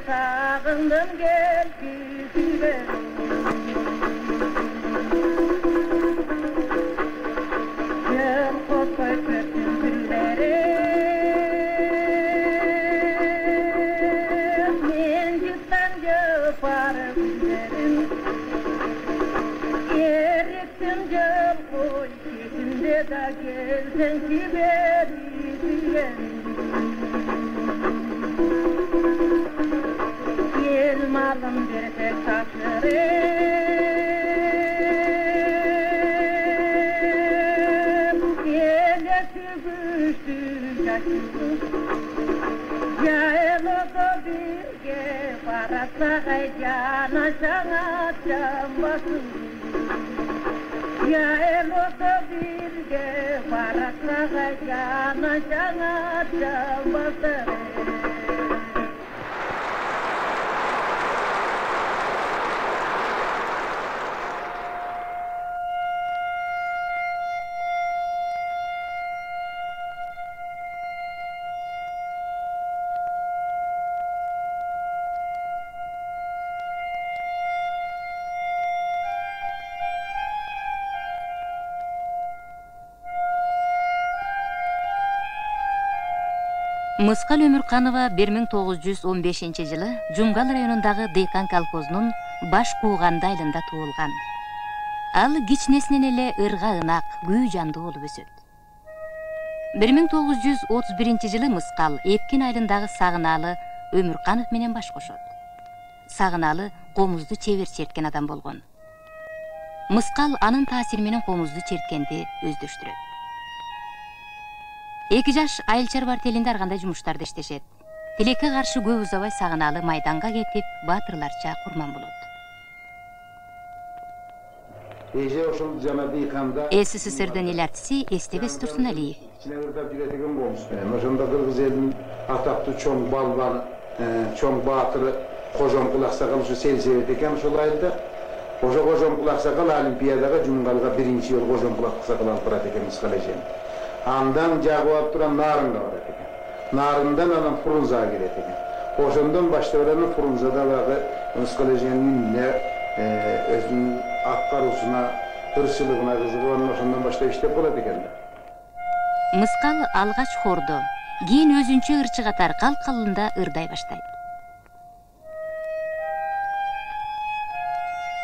Sağındım gel küsüle Gel koskoy kötün gülleri Men cüttan jöparı güllerim Ereksin jöl koy Kekinde da gelsen ki beri süyerim Malım bir tek taşlarım Gelesi güçtü yaşlı Yaylığı birge Parasakay cana sana çambasın Yaylığı birge Parasakay cana sana çambasın Мыскал Өмүрканова 1915-жылы Жумгал районундагы Дыйкан колхозунун Баш Кууганды айылында туулган. Ал кичинесинен эле ырга ынак, күү жандуу болуп өсөт. 1931-жылы Мыскал Эпкин айылындагы Сагынаалы Өмүрканов менен баш кошот. Сагынаалы комузду чебер черткен адам болгон. Мыскал анын таасири менен комузду черткенди өздөштүрөт. Эки жаш айыл чарба артелинде ар кандай жумуштарды иштешет. Тилекке каршы көп узабай Сагынаалы майданга кетип, баатырларча курман болот. СССРдин эл артиси Эстебес Турсуналиев. Ошондо кыргыз элинин атактуу чоң балбаны, чоң баатыры Кожомкул Аксакал ушу селсебет экен ушул айылда. Ошо Кожомкул Аксакал Олимпиадага Жумгалга биринчи жолу Кожомкул Аксакал алып барат экен Мыскал эжени. Андан жагып алып туран Нарынга барат экен. Нарындан анан Фрунзага келет экен. Ошондон баштап анан Фрунзада багы Мыскал эженин өзүнүн аткаруусуна, тырышчылыгына кызыгып, анан ошондон баштап иштеп болот экен да. Мыскал алгач хордо, кийин өзүнчө ырчы катар калк калында ырдай баштайт.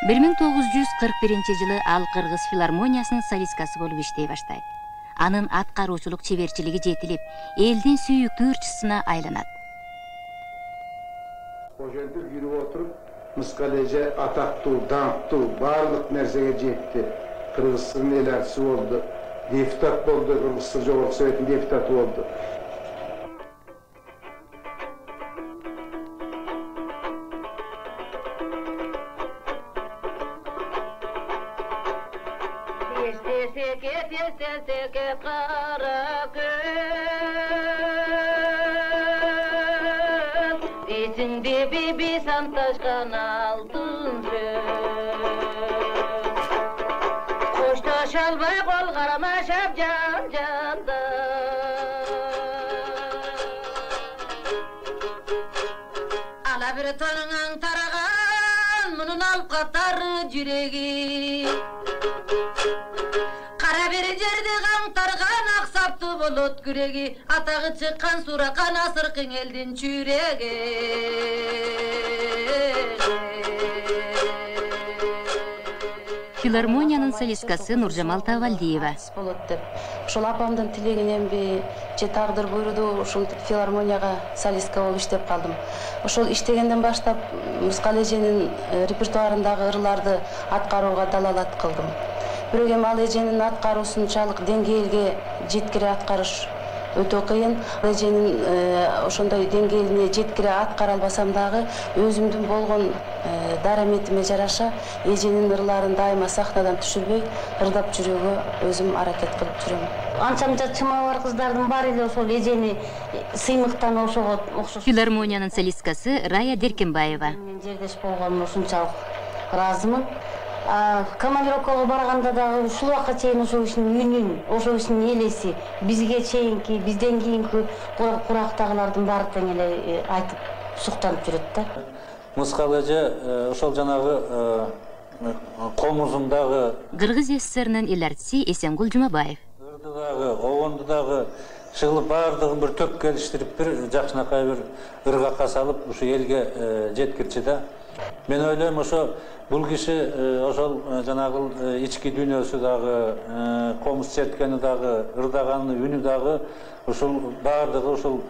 1941-жылы ал Кыргыз филармониясынын солисткасы болуп иштей баштайт. Анын аткаруучулук чеберчилиги жетилип, элдин сүйүктүү ырчысына айланат. Ошентип жүрүп отуруп, Мыскал эже атактуу, даңктуу, баардык нерсеге жетти. Кыргыздын эл артиси болду, депутат болду, Кыргыз Жогорку Советтин депутаты болду. İçinde bir santaşkan altın Koşta şalbay kol karamaşap can canda Ala bir tonun taragan Bunun alıp katar jüregi Kara bir jerde kantargan aksaptı bolot küregi Atağı çıkkan surakan asırkın eldin çüregi Филармониянын солисткасы Нуржамал Тавалдиева. Болот деп. Ошол апамдын тилегиненби же тагдыр буйруду ушул филармонияга солистка болуп иштеп калдым. Ошол иштегенден баштап Мыскал эженин репертуарындагы ырларды аткарууга далалат кылдым. Бирок эми ал эженин аткаруусунчалык деңгээлге жеткире аткарыш өтө кыйын. Эженин ошондой деңгээлине жеткире аткара албасам дагы өзүмдүн болгон дараметиме жараша эженин ырларын дайыма сахнадан түшүрбөй ырдап жүрүүгө өзүм аракет кылып жүрөм. Анча-мынча чымабы бар кыздардын баары эле ошол эжени сыймыктан ошого окшош. Филармониянын солисткасы Рая Деркенбаева. Мен жердеш болгонума ушунчалык ыраазымын. Командировкага барганда дагы ушул убакка чейин ошол кишинин үнүн, ошол кишинин элеси бизге чейинки, бизден кийинки курактагылардын баары тең эле айтып суктанып жүрөт да. Мыскал эже ошол жанагы комузундагы Кыргыз СССРнын эл артиси Эсенгул Жумабаев. Ырды дагы, обонду дагы чыгылып баардыгын бир төп келиштирип бир жакшынакай бир ыргакка салып ушу элге жеткирчи да. Мен ойлойм ошо бул киши ошол жанагы ички дүйнөсү дагы, комуз черткени дагы, ырдаганы, үнү дагы ушул баардыгы ушул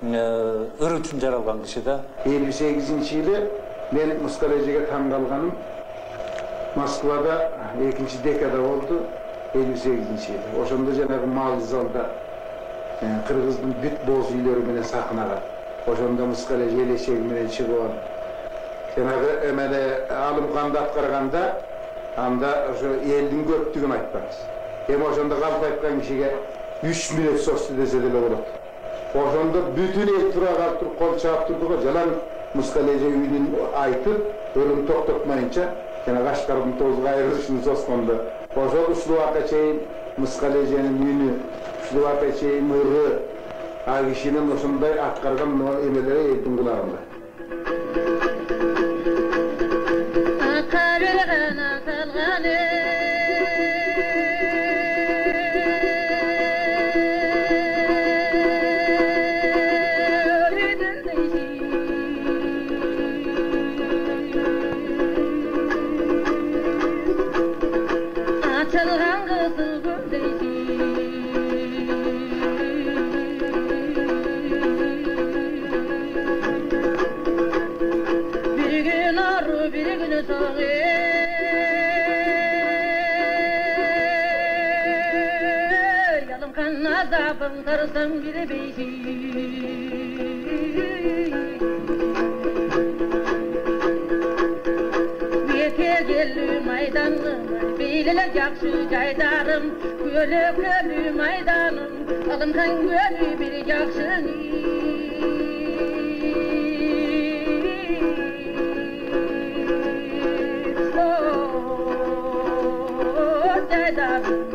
ыр үчүн жаралган киши да. 58-жылы мен Мыскал эжеге таң калганым Москвада 2 декада болду. 58-жылы. Ошондо жанагы мал залда кыргыздын бүт боз үйлөрү менен сахнага. Ошондо Мыскал эже элечеги менен чыгып жанагы эмеле алымканды аткарганда анда ошо элдин көптүгүн айтпаңыз. Ошондо калп айткан кишиге 3 мүнөт сосу десе деле болот. Ошондо бүтүн эл тура калып туруп кол чаап турду го. Жалаң Мыскал эже үнүн айтып, өлүм токтотмайынча жанагы Ашкардын тозуга айрылышын соскондо. Ошол ушул убакка чейин Мыскал эженин үнү, ушул убакка чейин ыры, ал кишинин ошондой аткарган эмелери элдин кулагында. Jakşı caydarım, gölü maydanım, alımkan gölü bir jakşını. Caydarım.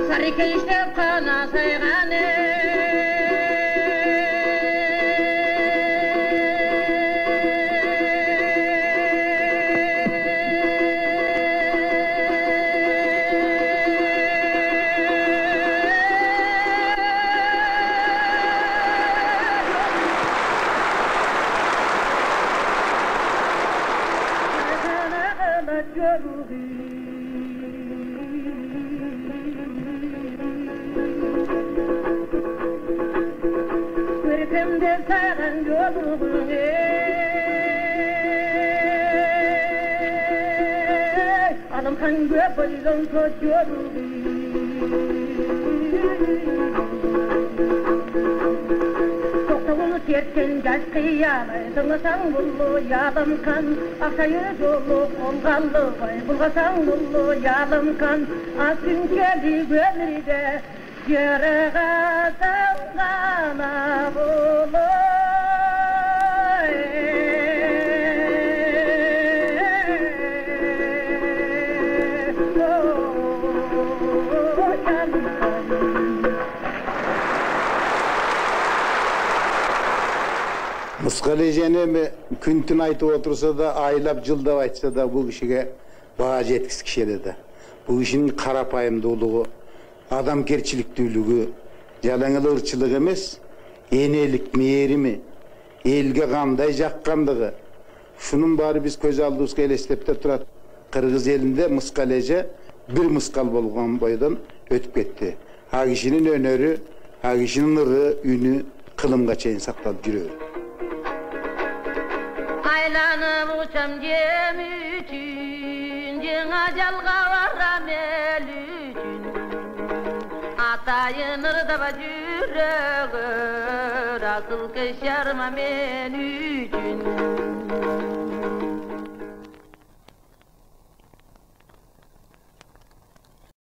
Sarıka işte kana sayganı. Toktağını terken gaz kıyamay, tırmasan bullu yalım kan, akşayı yolu kongallı vay, bulgasan bullu yalım kan, asın keli gönlüde, yarağa sangana bullu. Мыскал эжени күн-түн айтып отурса да, айлап жылдап айтса да бул кишиге баа жеткизгиш эле да. Бул кишинин карапайымдуулугу, адамгерчиликтүүлүгү, жалаң эле ырчылык эмес, энелик мээрими, элге кандай жаккандыгы. Шунун баары биз көз алдыбызга элестепте турат. Кыргыз элинде Мыскал эже бир мыскал болгон бойдон өтүп кетти. А кишинин өнөрү, а кишинин ыры, үнү кылымга чейин сакталып жүрөбү. Aylanıp uçam gemi üçün, cena jalga varam Ayınırda жүрөгөр, asıl keşarma men üçün.